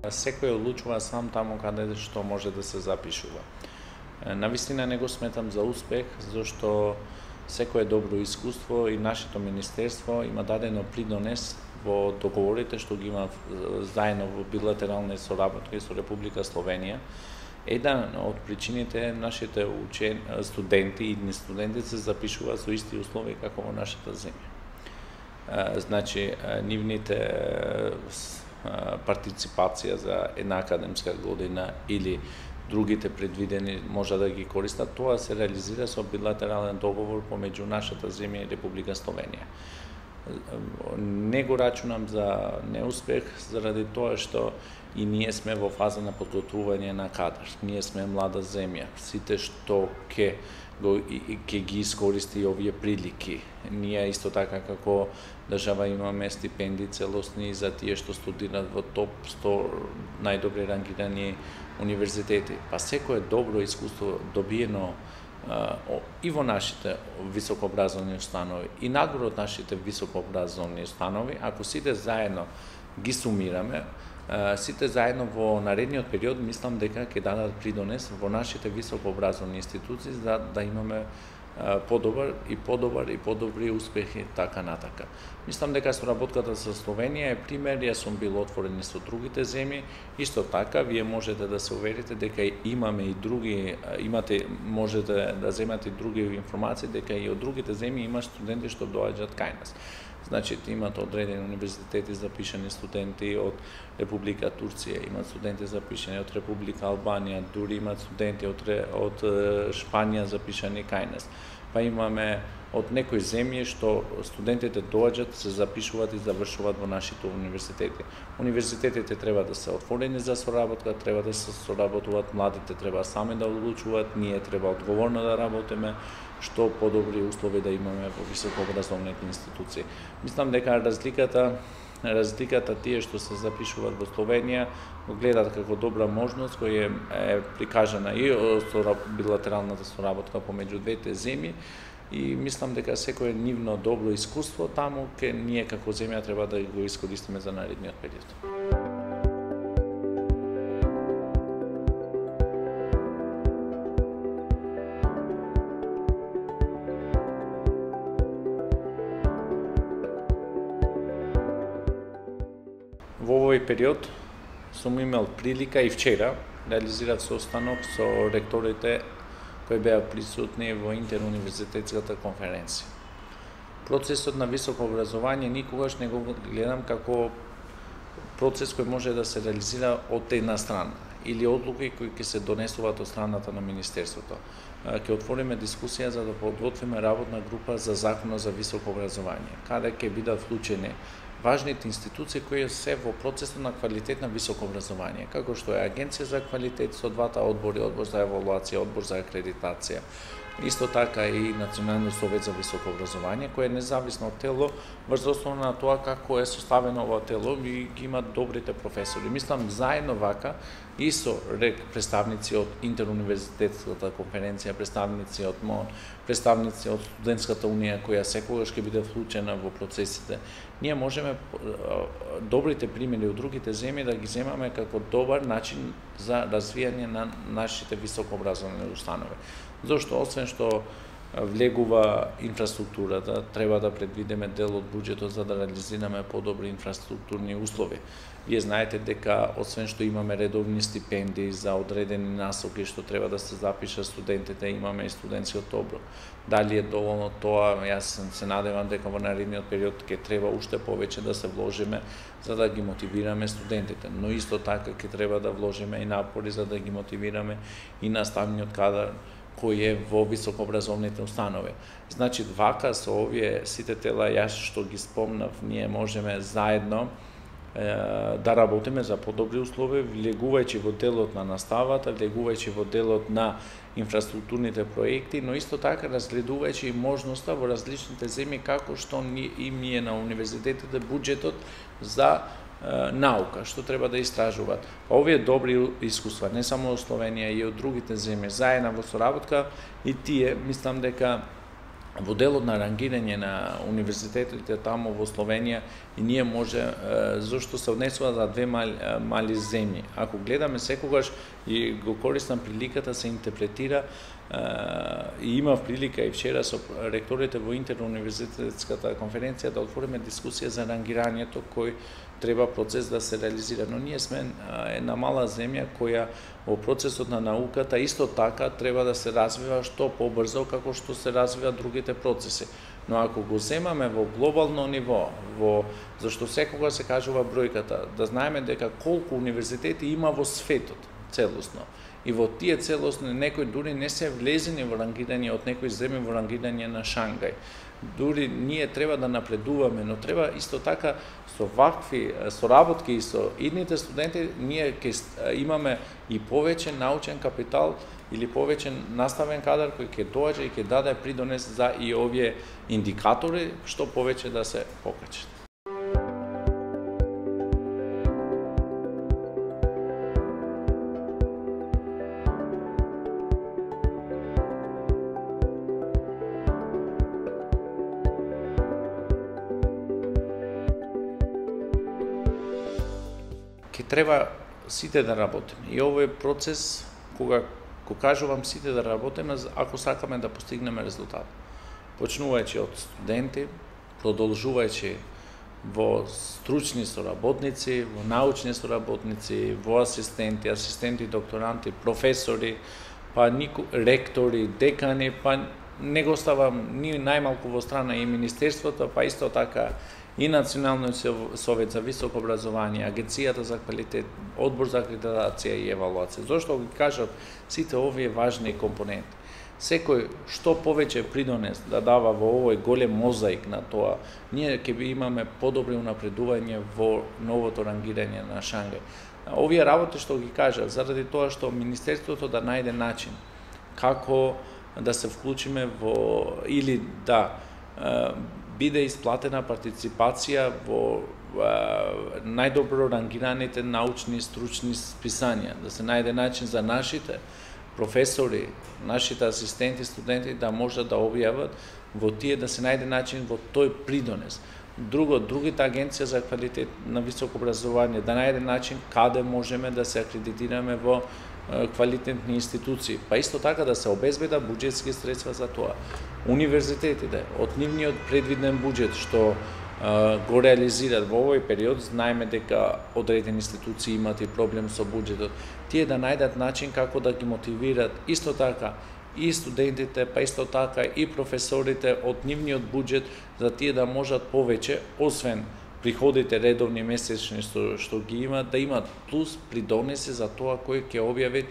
Секој одлучува сам таму каде што може да се запишува. Навистина не го сметам за успех, зашто секое добро искуство и нашето министерство има дадено придонес во договорите што ги има заедно во билатерални соработки со Република Словенија. Една од причините нашите студенти и идни студенти се запишуваат со исти услови како во нашата земја. Значи, нивните партиципација за една академска година или другите предвидени може да ги користат, тоа се реализира со билатерален договор помеѓу нашата земја и Република Словенија. Не го рачунам за неуспех заради тоа што и ние сме во фаза на подготвување на кадар. Ние сме млада земја. Сите што ќе ги искористи овие прилики. Ние исто така како држава имаме стипендии целосни за тие што студираат во топ 100 најдобри рангирани универзитети. Па секое добро искуство добиено и во нашите високообразовни установи и надвор од нашите високообразовни установи, ако сите заедно ги сумираме, сите заедно во наредниот период мислам дека ќе дадат придонес во нашите високообразовни институции за да имаме подобри успехи така натака. Мислам дека соработката со Словенија е пример, јас сум бил отворен и со другите земји, исто така вие можете да се уверите дека имаме и други, можете да земате и други информации дека и од другите земји има студенти што доаѓаат кај нас. Значи, имат одредени универзитети запишани студенти од Република Турција, имат студенти запишани од Република Албанија, дури имат студенти од Шпанија запишани кај нас. Па имаме од некои земји што студентите доаѓаат, се запишуваат и завршуваат во нашите универзитети. Универзитетите треба да се отворени за соработка, треба да се соработуваат, младите треба сами да одлучуваат, ние треба одговорно да работиме, што подобри услови да имаме во високообразовните институции. Мислам дека разликата тие што се запишуваат во Словенија го гледат како добра можност која е прикажана и со билатералната соработка помеѓу двете земји и мислам дека секое нивно добро искуство таму ние како земја треба да го искористиме за наредниот период. Во овој период сум имал прилика и вчера реализирав состанок со ректорите кои беа присутни во интеруниверзитетската конференција. Процесот на високо образование никогаш не го гледам како процес кој може да се реализира од една страна или одлуки кои ќе се донесуваат од страната на Министерството. Ќе отвориме дискусија за да подготвиме работна група за законот за високо образование, каде ќе бидат вклучени важните институции кои се во процесот на квалитет на високо образование, како што е Агенција за квалитет со двата одбори, одбор за евалуација, одбор за акредитација, исто така и Националниот совет за високо образование, кој е независно тело врз основа на тоа како е составено ова тело и ги имат добрите професори. Мислам заедно вака и со представници од интеруниверзитетската конференција, представници од МОН, представници од студентската унија која секогаш ќе биде вклучена во процесите. Ние можеме добрите примери од другите земји да ги земаме како добар начин за развијање на нашите високообразовни установи. Зошто освен што влегува инфраструктурата, треба да предвидиме дел од буџетот за да реализираме подобри инфраструктурни услови. Вие знаете дека освен што имаме редовни стипендии за одредени насоки што треба да се запишат студентите, имаме и студентскиот оброк. Дали е доволно тоа? Јас се надевам дека во наредниот период ќе треба уште повеќе да се вложиме за да ги мотивираме студентите, но исто така ќе треба да вложиме и напори за да ги мотивираме и наставниот кадар кој е во високообразовните установи. Значи, вака со овие сите тела, јас што ги спомнав, ние можеме заедно да работиме за подобри услови, влегувајќи во делот на наставата, влегувајќи во делот на инфраструктурните проекти, но исто така разгледувајќи и можноста во различните земји како што им е на универзитетите буџетот за наука, што треба да истражуваат. Овие добри искуства, не само од Словенија, и од другите земји, заедно во соработка, и тие, мислам дека во делот на рангирање на универзитетите таму во Словенија и ние може зашто се однесува за две мали земји. Ако гледаме секогаш и го користам приликата се интерпретира и имав прилика и вчера со ректорите во интеруниверзитетската конференција да отвориме дискусија за рангирањето кој треба процес да се реализира. Но ние сме една мала земја која во процесот на науката исто така треба да се развива што побрзо како што се развива другите процеси. Но ако го земаме во глобално ниво, зашто секогаш се кажува бројката, да знаеме дека колку универзитети има во светот целосно. И во тие целосни некои дури не се влезени во рангирање од некои земји во рангирање на Шангај. Дури ние треба да напредуваме, но треба исто така со вакви соработки и со идните студенти ние ќе имаме и повеќе научен капитал или повеќе наставен кадар кој ќе доаѓа и ќе даде придонес за и овие индикатори што повеќе да се покачат. Ке треба сите да работиме. И овој процес, кога кажувам сите да работиме, ако сакаме да постигнеме резултат. Почнувајќи од студенти, продолжувајќи во стручни соработници, во научни соработници, во асистенти, докторанти, професори, па ректори, декани, па не го ставам ни најмалку во страна и Министерството, па исто така и Националниот совет за високо образование, Агенцијата за квалитет, Одбор за акредитација и евалуација. Зошто ги кажат сите овие важни компоненти? Секој што повеќе придонес да дава во овој голем мозаик на тоа, ние ќе имаме подобри унапредување во новото рангирање на Шангај. Овие работи што ги кажат, заради тоа што Министерството да најде начин како да се вклучиме во или да биде исплатена партиципација во најдобро рангираните научни и стручни списања, да се најде начин за нашите професори, нашите асистенти, студенти да можат да објават во тие, да се најде начин во тој придонес. Другите агенција за квалитет на високо образование да најде начин каде можеме да се акредитираме во квалитетни институции, па исто така да се обезбеда буџетски средства за тоа. Универзитетите, од нивниот предвиден буџет што го реализираат во овој период, знаеме дека одредени институции имат и проблем со буџетот, тие да најдат начин како да ги мотивират исто така и студентите, па исто така и професорите од нивниот буџет, за тие да можат повеќе, освен приходите редовни месечни што ги имат, да имат плюс придонеси за тоа кој ќе објави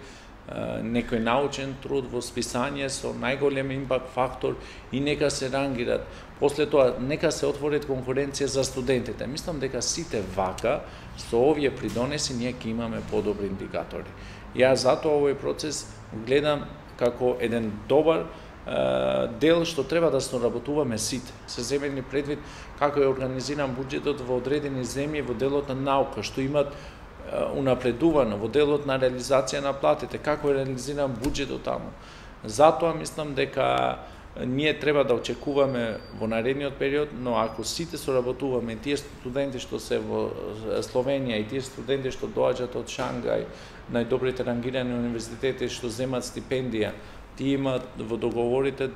некој научен труд во списање со најголем импакт фактор и нека се рангират. После тоа нека се отворат конкуренција за студентите. Мислам дека сите вака со овие придонеси ние ќе имаме подобри индикатори. Јас затоа овој процес гледам како еден добар дел што треба да соработуваме сите. Се земени предвид како е организиран буџетот во одредени земји во делот на наука, што имат унапредувано во делот на реализација на платите, како е реализиран буџетот таму. Затоа мислам дека ние треба да очекуваме во наредниот период, но ако сите соработуваме, тие студенти што се во Словенија и тие студенти што доаѓаат од Шангај, најдобрите рангирани универзитети што земат стипендија, тие имаат во договорите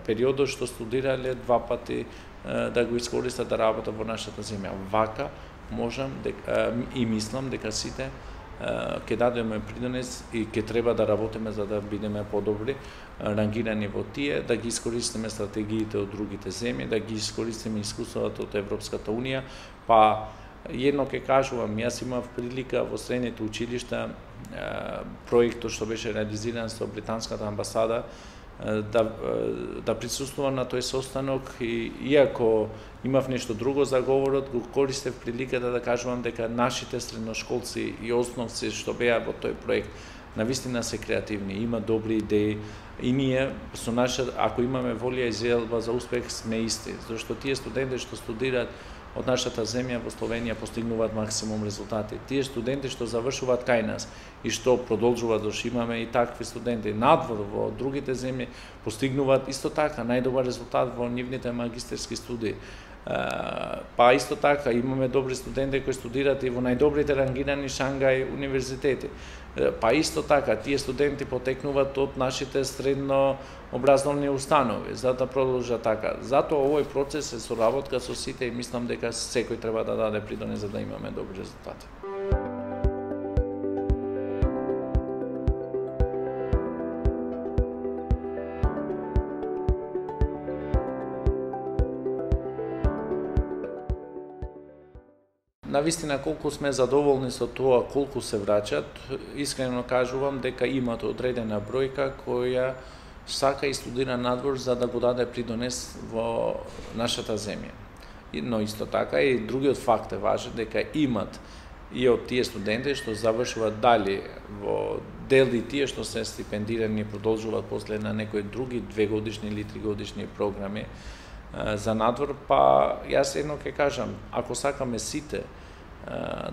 периодот што студирале два пати да го искористат да работат во нашата земја. Вака можам и мислам дека сите ќе дадеме придонес и ќе треба да работиме за да бидеме подобри рангирани во тие, да ги искористиме стратегиите од другите земји, да ги искористиме искуството од Европската Унија, па едно ќе кажувам, јас имав прилика во средните училишта проектот што беше реализиран со британската амбасада да присуствувам на тој состанок и иако имав нешто друго за говорот, го користев приликата да кажувам дека нашите средношколци и основци што беа во тој проект навистина се креативни, има добри идеи и ние со наша, ако имаме волја и желба за успех, сме исти, зашто тие студенти што студираат од нашата земја во Словенија постигнуваат максимум резултати. Тие студенти што завршуваат кај нас и што продолжуваат, зашто имаме и такви студенти надвор во другите земји, постигнуваат исто така најдобар резултат во нивните магистерски студии. Па исто така имаме добри студенти кои студираат и во најдобрите рангирани Шангај универзитети. Па исто така тие студенти потекнуваат од нашите средно образовни установи, за да продолжат така. Затоа овој процес е соработка со сите и мислам дека секој треба да даде придонес за да имаме добри резултати. Навистина, колку сме задоволни со тоа колку се враќат, искрено кажувам дека имат одредена бројка која сака и студира надвор за да го даде придонес во нашата земја. Но исто така и другиот факт е важен, дека имат и од тие студенти што завршуваат дали во дели тие што се стипендирани и продолжуваат после на некои други 2-годишни или 3-годишни програми за надвор, па јас едно ќе кажам, ако сакаме сите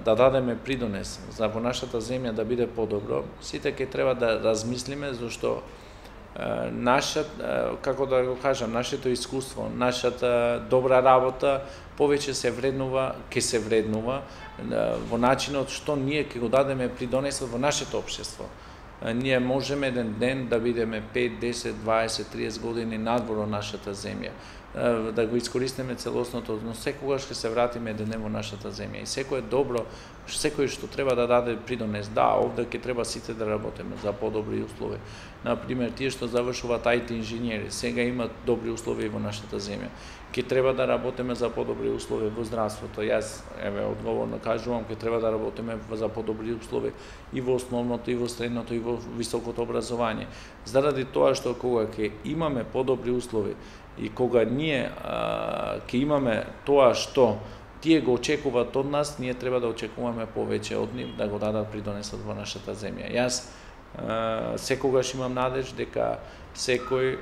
да дадеме придонес за во нашата земја да биде подобро, сите ќе треба да размислиме, зашто како да го кажам, нашето искуство, нашата добра работа повеќе се вреднува, ќе се вреднува во начинот што ние ќе го дадеме придонесот во нашето општество. Ние можеме еден ден да бидеме 5, 10, 20, 30 години надвор од нашата земја, да го искористиме целосното, но секогаш ќе се вратиме еден во нашата земја. И секој е добро, секој што треба да даде придонес. Да, овде ќе треба сите да работиме за подобри услови. Например, тие што завршуваат IT инженери, сега имаат добри услови во нашата земја. Ќе треба да работиме за подобри услови во здравството. Јас, одговорно кажувам, ќе треба да работиме за подобри услови и во основното, и во средното, и во високото образование. Заради тоа што кога ќе имаме подобри услови и кога ние ќе имаме тоа што тие го очекуваат од нас, ние треба да очекуваме повеќе од нив да го дадат придонесот во нашата земја. Јас секогаш имам надеж дека секој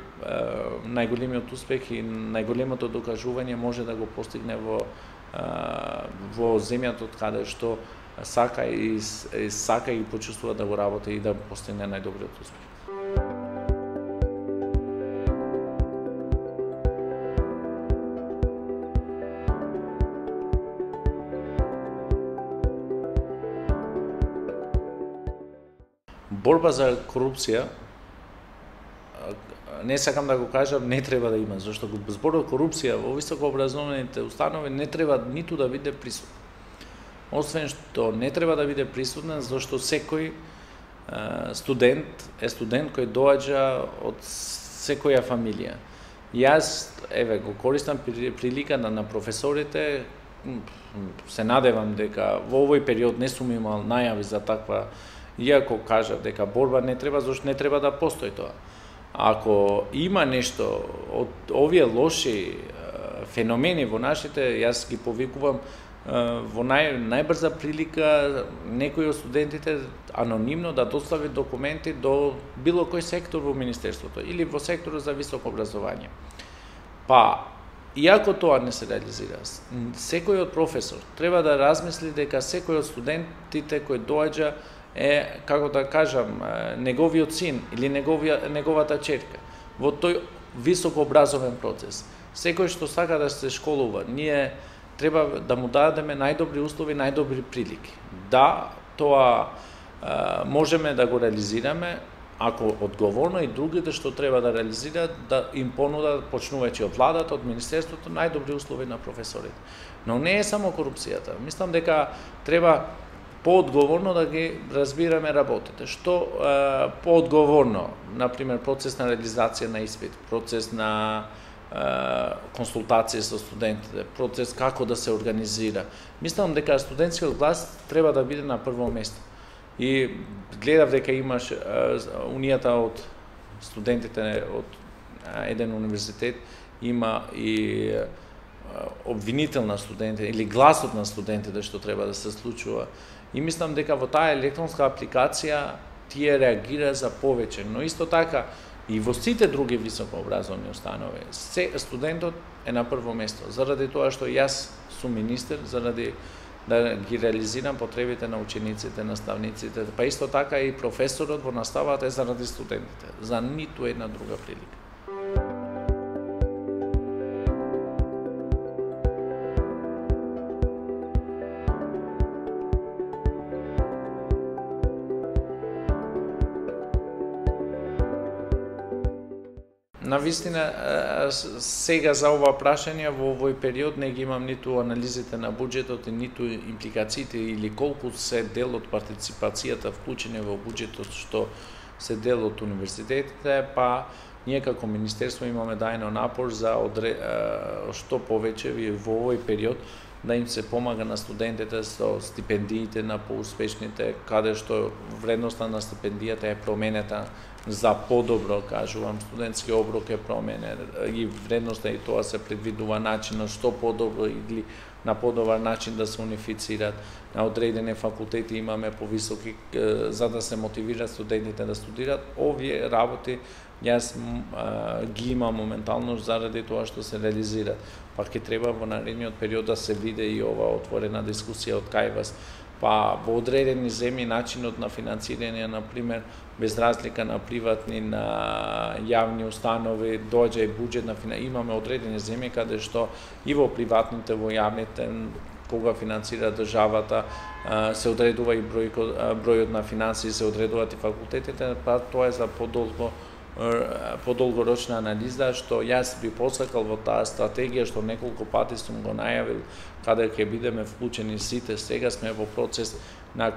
најголемиот успех и најголемото докажување може да го постигне во земјата од каде што сака и почувствува да го работи и да постигне најдобриот успех. Борба за корупција, не сакам да го кажам, не треба да има, зашто зборот корупција во високообразовните установи не треба ниту да биде присутен. Освен што не треба да биде присутен, зашто секој студент е студент кој доаѓа од секоја фамилија. Јас, го користам приликата на професорите, се надевам дека во овој период не сум имал најави за таква. Иако кажа дека борба не треба, зашто не треба да постои тоа. Ако има нешто од овие лоши феномени во нашите, јас ги повикувам во најбрза прилика некој од студентите анонимно да достави документи до било кој сектор во Министерството или во секторот за високо образование. Па, иако тоа не се реализира, секој од професор треба да размисли дека секој од студентите кој доаѓа е, како да кажам, неговиот син или неговата черка во тој високообразовен процес. Секој што сака да се школува, ние треба да му дадеме најдобри услови, најдобри прилики. Да, тоа можеме да го реализираме, ако одговорно и другите што треба да реализираат, да им понудат, почнувајќи од владата, од Министерството, најдобри услови на професорите. Но не е само корупцијата. Мислам дека треба поодговорно да ги разбираме работите. Што поодговорно, например, процес на реализација на испит, процес на консултација со студентите, процес како да се организира. Мислам дека студентскиот глас треба да биде на прво место. И гледав дека имаш унијата од студентите од еден универзитет има и обвинител на студентите или гласот на студентите што треба да се случува. И мислам дека во таа електронска апликација тие реагира за повеќе, но исто така и во сите други високообразовни установи студентот е на прво место, заради тоа што јас сум министер заради да ги реализирам потребите на учениците, наставниците, па исто така и професорот во наставата е заради студентите, за ниту една друга прилика. Навистина, сега за ова прашање во овој период не ги имам ниту анализите на буџетот, ниту импликациите или колку се дел од партиципацијата вклучени во буџетот што се дел од универзитетите, па ние како министерство имаме дајно напор за што повеќе во овој период да им се помага на студентите со стипендиите на поуспешните, каде што вредноста на стипендијата е променета за подобро, кажувам, студентски оброк е променен и вредноста и тоа се предвидува начинот што подобро или на подобар начин да се унифицираат. На одредени факултети имаме повисоки за да се мотивираат студентите да студираат. Овие работи јас ги имам моментално заради тоа што се реализираат. Па ќе треба во наредниот период да се види и ова отворена дискусија од кај вас. Па во одредени земји начинот на финансирање, на пример, без разлика на приватни, на јавни установи, доаѓа и буџет на имаме одредени земји каде што и во приватните, во јавните, кога финансира државата, се одредува и бројот на финансии, се одредуваат и факултетите, па тоа е за подолгорочна анализа, што јас би посакал во таа стратегија, што неколку пати сум го најавил, каде ќе бидеме вклучени сите. Сега сме во процес на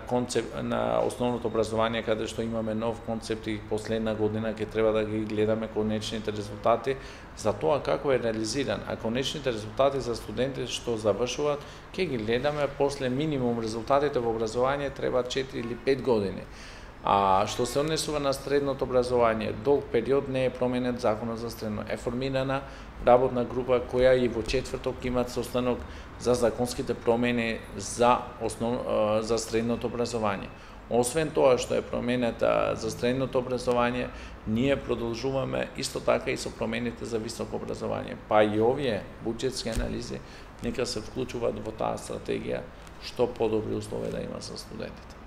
основното образование, каде што имаме нов концепт и последна година ќе треба да ги гледаме конечните резултати за тоа како е реализиран. А конечните резултати за студентите што завршуваат, ќе ги гледаме после минимум резултатите во образование треба 4 или 5 години. А што се однесува на средното образование, долг период не е променет законот за средно. Е формирана работна група која и во четврток имат состанок за законските промени за средното образование. Освен тоа што е променета за средното образование, ние продолжуваме исто така и со промените за високо образование. Па и овие буџетски анализи нека се вклучуваат во таа стратегија што подобри услови да има за студентите.